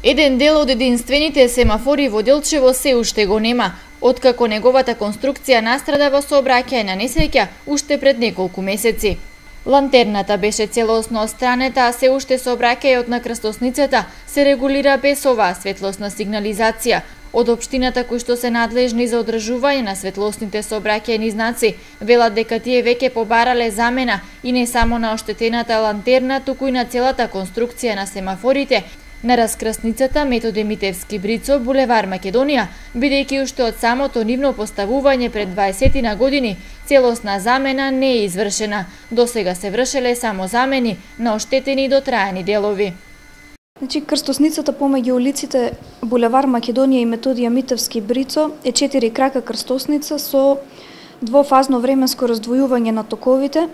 Еден дел од единствените семафори во Делчево се уште го нема, откако неговата конструкција настрада во сообраќајна несреќа уште пред неколку месеци. Лантерната беше целосно отстранета, а се уште сообраќајот на крстосницата се регулира без оваа светлосна сигнализација. Од општината кои што се надлежни за одржување на светлосните сообраќајни знаци, велат дека тие веќе побарале замена и не само на оштетената лантерна, туку и на целата конструкција на семафорите, на раскрсницата Методе Митевски Брицо, булевар Македонија, бидејќи уште од самото нивно поставување пред 20 на години, целосна замена не е извршена. Досега се вршеле само замени на оштетени и дотраени делови. Значи, крстосницата помеѓу улиците булевар Македонија и Методија Митевски Брицо е 4 крака крстосница со двофазно временско раздвојување на токовите.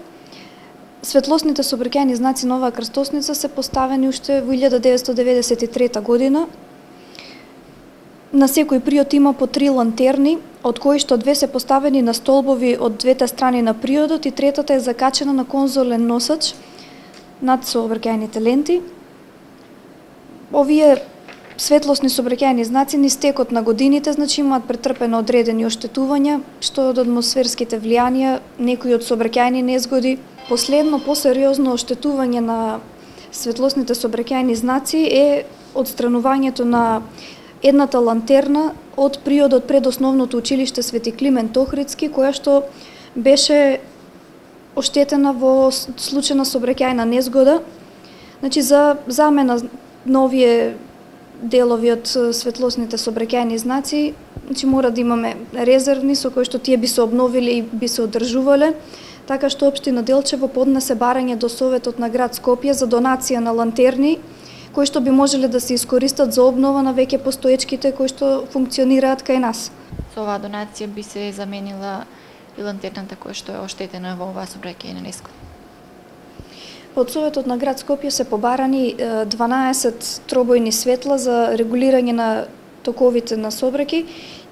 Светлосните сообраќајни знаци на оваа крстосница се поставени уште во 1993 година. На секој приод има по 3 лантерни, од кои што 2 се поставени на столбови од двете страни на приодот и третата е закачена на конзолен носач над сообраќајните ленти. Овие светлосни сообраќајни знаци низ текот на годините, значи имаат претрпено одредени оштетувања, што од атмосферските влијанија, некои од сообраќајни незгоди. Последно посериозно оштетување на светлосните сообраќајни знаци е отстранувањето на едната лантерна од приодот пред основното училиште Свети Климент Охридски, која што беше оштетена во случај на сообраќајна незгода. Значи, за замена на овие делови од светлосните сообраќајни знаци, значи мора да имаме резервни со кои што тие би се обновиле и би се одржувале, така што општина Делчево поднесе барање до Советот на град Скопје за донација на лантерни, кои што би можеле да се искористат за обнова на веќе постоечките кои што функционираат кај нас. Со оваа донација би се заменила и лантерната која што е оштетена во оваа сообраќајна несгода. Од Советот на град Скопје се побарани 12 тробојни светла за регулирање на токовите на сообраќај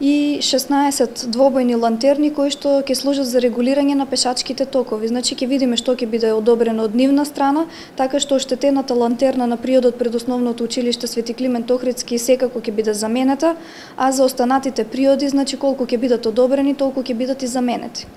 и 16 двобојни лантерни кои што ќе служат за регулирање на пешачките токови. Значи ќе видиме што ќе биде одобрено од нивна страна, така што оштетената лантерна на приодот пред основното училиште Свети Климент Охридски секако ќе биде заменета, а за останатите приоди, значи колку ќе бидат одобрени, толку ќе бидат и заменети.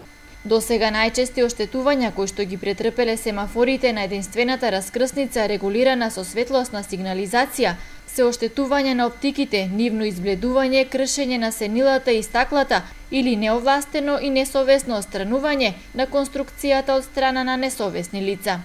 Досега најчести оштетувања кои што ги претрпеле семафорите на единствената раскрсница регулирана со светлосна сигнализација се оштетување на оптиките, нивно избледување, кршење на сенилата и стаклата или неовластено и несовесно отстранување на конструкцијата од страна на несовесни лица.